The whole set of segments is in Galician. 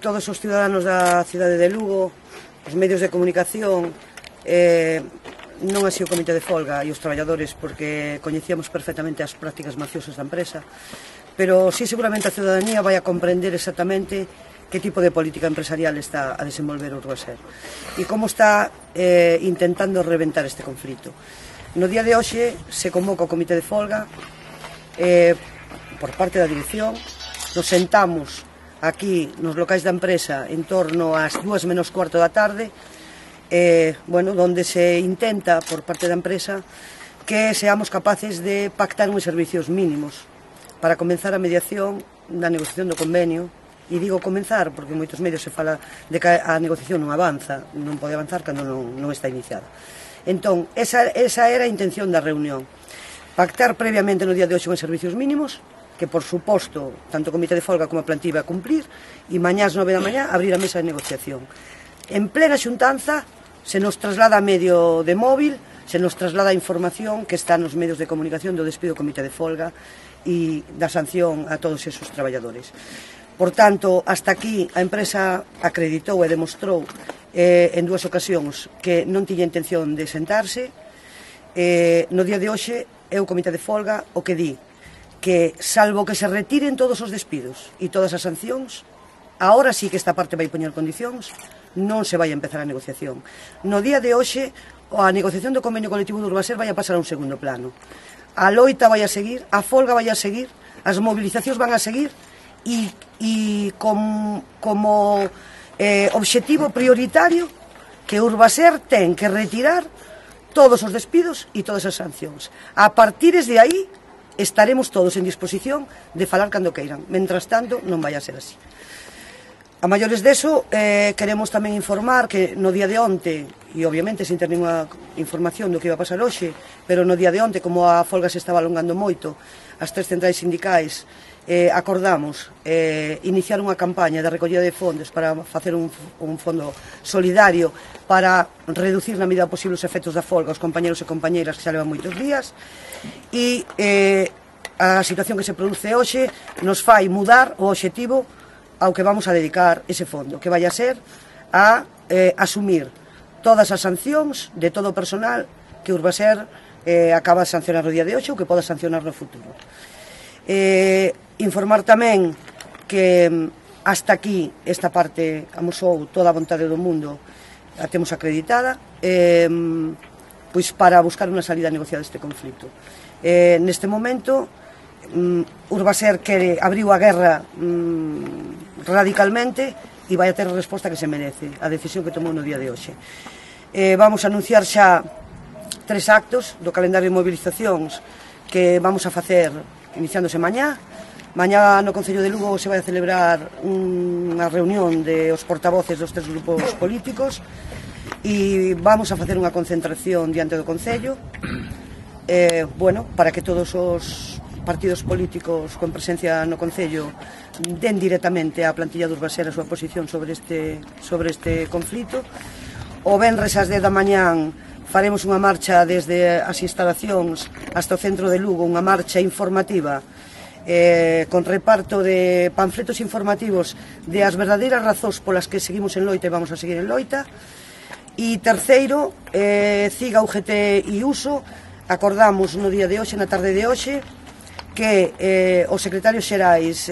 todos os ciudadanos da cidade de Lugo, os medios de comunicación, non así o comité de folga e os traballadores, porque coñecíamos perfectamente as prácticas mafiosas da empresa, pero sí seguramente a ciudadanía vai a comprender exactamente que tipo de política empresarial está a desenvolver Urbaser e como está intentando reventar este conflito. No día de hoxe se convoca o comité de folga por parte da dirección. Nos sentamos aquí nos locais da empresa en torno ás 2 menos cuarto da tarde, donde se intenta por parte da empresa que seamos capaces de pactar uns servicios mínimos para comenzar a mediación da negociación do convenio. E digo comenzar porque en moitos medios se fala de que a negociación non avanza, non pode avanzar cando non está iniciada. Entón, esa era a intención da reunión, pactar previamente no día de hoxe uns servicios mínimos que, por suposto, tanto o comité de folga como a plantilla va a cumplir, e mañá ás 9 da mañá abrir a mesa de negociación. En plena xuntanza se nos traslada a medio de móvil, se nos traslada a información que está nos medios de comunicación do despido do comité de folga e da sanción a todos esos traballadores. Por tanto, hasta aquí a empresa acreditou e demostrou en 2 ocasións que non tiña intención de sentarse. No día de hoxe é o comité de folga o que di que, salvo que se retiren todos os despidos e todas as sancións, agora sí que esta parte vai poñer condicións, non se vai a empezar a negociación. No día de hoxe a negociación do convenio colectivo de Urbaser vai a pasar a un segundo plano. A loita vai a seguir, a folga vai a seguir, as movilizacións van a seguir e como obxectivo prioritario que Urbaser ten que retirar todos os despidos e todas as sancións. A partir de aí estaremos todos en disposición de falar cando queiran. Mentras tanto, non vai a ser así. A maiores deso, queremos tamén informar que no día de onte, e obviamente sin ter ninguna información do que iba a pasar hoxe, pero no día de onte, como a folga se estaba alongando moito, as 3 centrais sindicais acordamos iniciar unha campaña de recollida de fondos para facer un fondo solidario para reducir na medida posible os efectos da folga aos compañeros e compañeiras que xa levan moitos días, e a situación que se produce hoxe nos fai mudar o obxectivo ao que vamos a dedicar ese fondo, que vai a ser a asumir todas as sancións de todo o personal que Urbaser acaba de sancionar o día de hoxe ou que poda sancionar no futuro. Informar tamén que hasta aquí esta parte amosou toda a vontade do mundo, a temos acreditada, pois para buscar unha salida negociada deste conflito. Neste momento Urbaser abriu a guerra radicalmente e vai a ter a resposta que se merece a decisión que tomou no día de hoxe. Vamos a anunciar xa 3 actos do calendario de movilizacións que vamos a facer iniciándose mañá. Mañá no Concello de Lugo se vai a celebrar unha reunión de os portavoces dos 3 grupos políticos e vamos a facer unha concentración diante do Concello para que todos os partidos políticos con presencia no Concello den directamente á plantilla de Urbaser a súa posición sobre este conflito. O venres ás 10 da mañán faremos unha marcha desde as instalacións hasta o centro de Lugo, unha marcha informativa con reparto de panfletos informativos de as verdadeiras razóns polas que seguimos en loita e vamos a seguir en loita. E terceiro, CIGA, UGT e USO, acordamos no día de hoxe, na tarde de hoxe, que os secretarios xerais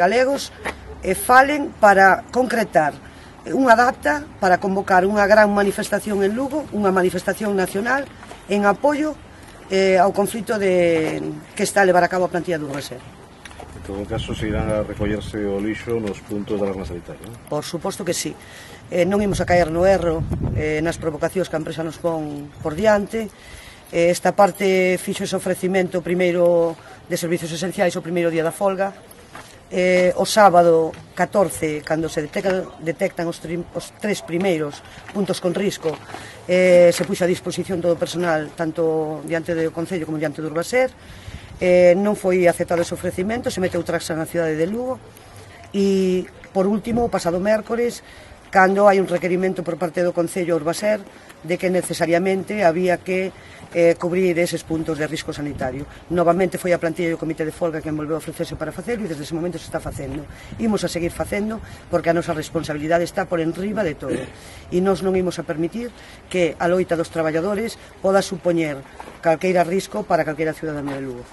galegos falen para concretar unha data para convocar unha gran manifestación en Lugo, unha manifestación nacional en apoio ao conflito que está a levar a cabo a plantilla de Urbaser. En todo caso, seguirán a recollerse o lixo nos puntos de alarma sanitaria, non? Por suposto que sí. Non imos a caer no erro nas provocacións que a empresa nos pon por diante. Esta parte fixo ese ofrecimento primeiro de servicios esenciais o primeiro día da folga. O sábado 14, cando se detectan os 3 primeiros puntos con risco, se puxo a disposición todo o personal, tanto diante do Concello como diante do Urbaser. Non foi aceptado ese ofrecimento, se meteu traxa na cidade de Lugo. E, por último, o pasado mércores, cando hai un requerimento por parte do Concello Urbaser de que necesariamente había que cubrir eses puntos de risco sanitario. Novamente foi a plantilla do Comité de Folga que volveu a ofrecerse para facelo e desde ese momento se está facendo. Imos a seguir facendo porque a nosa responsabilidade está por enriba de todo e nós non imos a permitir que a loita dos traballadores poda supoñer calqueira risco para calqueira cidadano de Lugo.